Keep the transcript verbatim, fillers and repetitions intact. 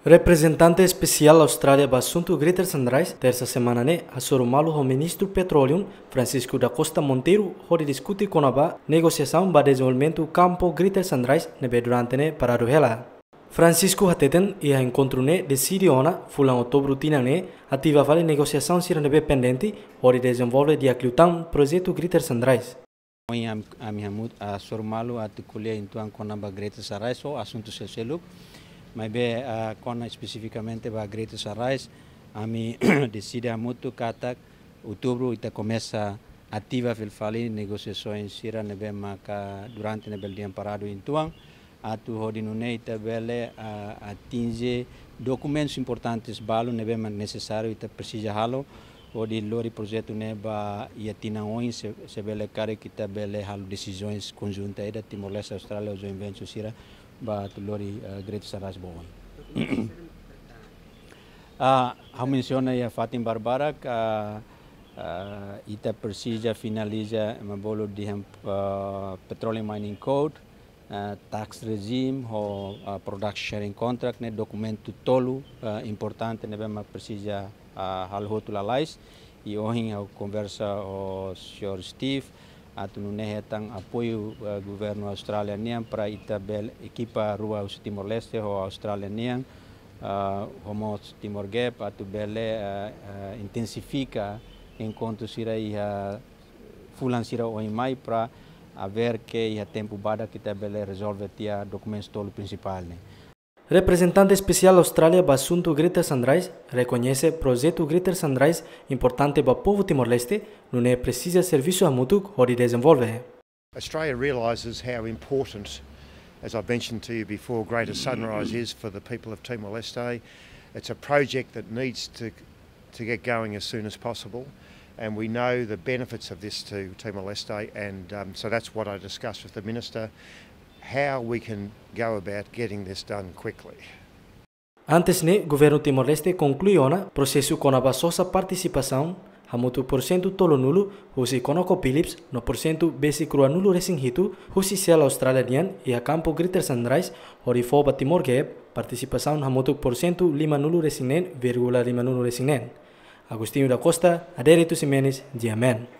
Reprezentante Espesiál Austrália ba Asuntu Greater Sunrise, tersa semana ne'e, hasoru malu ho Ministru Petróleu, Francisco da Costa Monteiro, hodi diskute kona-ba negosiasaun ba dezenvolvimentu kampu Greater Sunrise ne'ebé durante ne'e paradu hela. Francisco hateten iha enkontru ne'e deside ona fulan Outubru tinan ne'e ativa fali negosiasaun sira ne'ebé pendente hodi dezenvolve di'ak liután projetu Greater Sunrise. Ohin ami, ami hamut, ah, hasoru malu atu ko'alia uitoan kona-ba Greater Sunrise ho asuntu seluk-seluk. Maibé, ah, kona espesifikamente ba Greater Sunrise, ami deside hamutuk katak Outubru ita komesa ativa fila fali negosiasaun sira ne'ebé maka durante ne'e bele dehan paradu uitoan, atu hodi nune'e ita bele, ah, atinje dokumentus importantes balu ne'ebé mak nesesáriu ita presiza halo hodi lori projetu ne'e ba iha tinan oin se, se bele karik ita bele halo desizaun konjunta ida Timor-Leste Austrália ho joint venture sira ba atu lori, ah, Greater Sunrise ba oin. Ah, ha'u mensiona iha fatin barbarak, ah, ah, ita presiza finaliza ema bolu dehan, ah, Petroleum Mining Code, ah, tax regime ho, ah, production sharing contract ne'e dokumentu tolu, ah, importante ne'ebé mak presiza, ah, halo hotu lalais. I ohin ha'u konversa ho señór Steve, atu nune'e hetan apoiu, ah, governu Austrália nian para ita bele ekipa rua husi Timor-Leste ho Austrália nian, ah, ho mós Timor Gap atu bele, ah, ah, intensifika enkontru sira iha fulan sira oin mai para hanesan iha tempu badak ita bele rezolve tiha dokumentus tolu prinsipál ne'e. Reprezentante Espesiál Austrália ba Asuntu Greater Sunrise rekoñese projetu Greater Sunrise importante ba povu Timor-Leste, nune'e presiza servisu hamutuk hodi dezenvolve. Australia realises how important, as I've mentioned to you before, Greater Sunrise is for the people of Timor-Leste. It's a project that needs to, to get going as soon as possible, and we know the benefits of this to Timor-Leste, and, um, so that's what I discussed with the Minister, how we can go about getting this done quickly. Antes ne'e, governu Timor-Leste konklui ona prosesu kona-ba sosa partisipasaun hamutuk porsentu tolunulu husi ConocoPhillips no porsentu besik ruanulu-resin-hitu husi Shell Austrália nian iha kampu Greater Sunrise, hodi fó ba Timor Gap partisipasaun hamutuk porsentu limanulu-resin-neen vírgula limanulu-resin-neen. Agostinho da Costa, Adérito Ximenes, GMN.